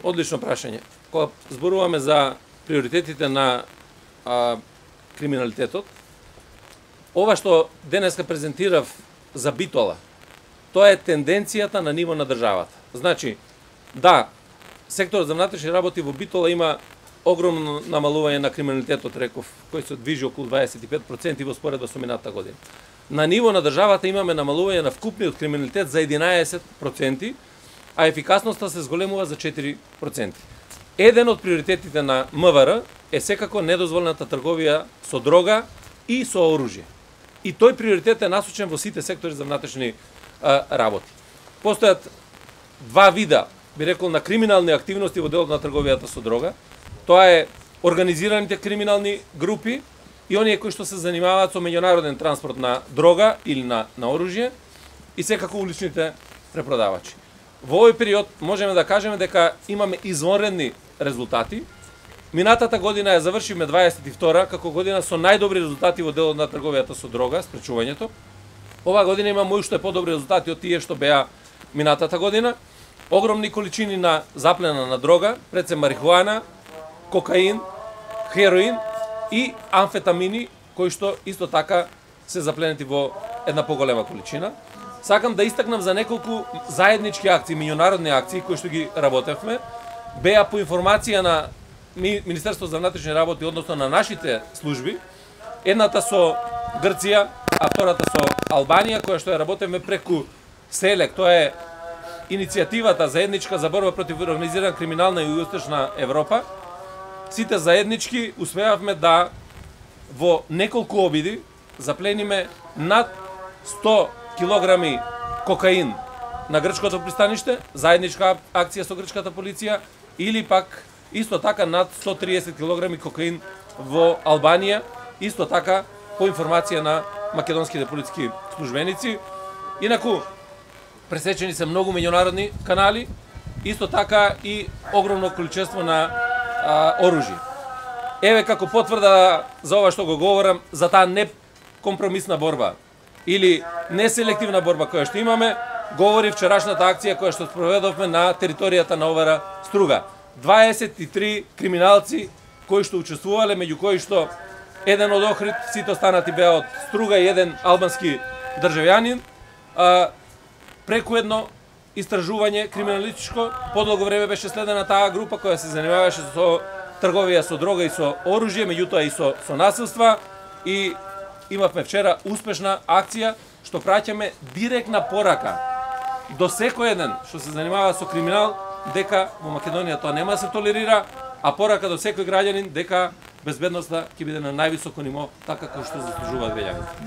Одлично прашање. Кога зборуваме за приоритетите на криминалитетот, ова што денеска презентирав за Битола, тоа е тенденцијата на ниво на државата. Значи, да, секторот за внатрешни работи во Битола има огромно намалување на криминалитетот, реков, кој се движи околу 25% во споредба со минатата година. На ниво на државата имаме намалување на вкупниот криминалитет за 11%, а ефикасноста се зголемува за 4%. Еден од приоритетите на МВР е секако недозволената трговија со дрога и со оружје. И тој приоритет е насочен во сите сектори за внатрешни работи. Постојат два вида, би рекол, на криминални активности во делот на трговијата со дрога. Тоа е организираните криминални групи и оние кои што се занимаваат со меѓународен транспорт на дрога или на оружје и секако уличните препродавачи. Во овој период можеме да кажеме дека имаме извонредни резултати. Минатата година ја завршивме 22 како година со најдобри резултати во делот на трговијата со дрога, спречувањето. Оваа година имаме уште подобри резултати од тие што беа минатата година. Огромни количини на заплена на дрога, пред се марихуана, кокаин, хероин и амфетамини, кои што исто така се запленети во една поголема количина. Сакам да истакнам за неколку заеднички акции, меѓународни акции кои што ги работевме. Беа по информација на Министерството за внатрешни работи, односно на нашите служби. Едната со Грција, а втората со Албанија, која што ја работевме преку СЕЛЕК. Тоа е иницијативата заедничка за борба против организиран криминал на Југоисточна Европа. Сите заеднички успеавме да во неколку обиди заплениме над 100 килограми кокаин на грчкото пристаниште, заедничка акција со грчката полиција, или пак исто така над 130 килограми кокаин во Албанија, исто така по информација на македонските полициски службеници. Инаку, пресечени се многу меѓународни канали, исто така и огромно количество на оружје. Еве како потврда за ова што го говорам, за таа некомпромисна борба или неселективна борба која што имаме, говори вчерашната акција која што спроведовме на територијата на Овара Струга. 23 криминалци кои што учествувале, меѓу кои што еден од Охрид, сите останати беа од Струга и еден албански државјанин. Преку едно истражување криминалистичко, подолго време беше следена таа група која се занимаваше со трговија со дрога и со оружје, меѓутоа и со насилства, и имавме вчера успешна акција што праќаме директна порака до секој еден што се занимава со криминал, дека во Македонија тоа нема да се толерира, а порака до секој граѓанин дека безбедноста ќе биде на највисоко ниво, така како што заслужуваат граѓаните.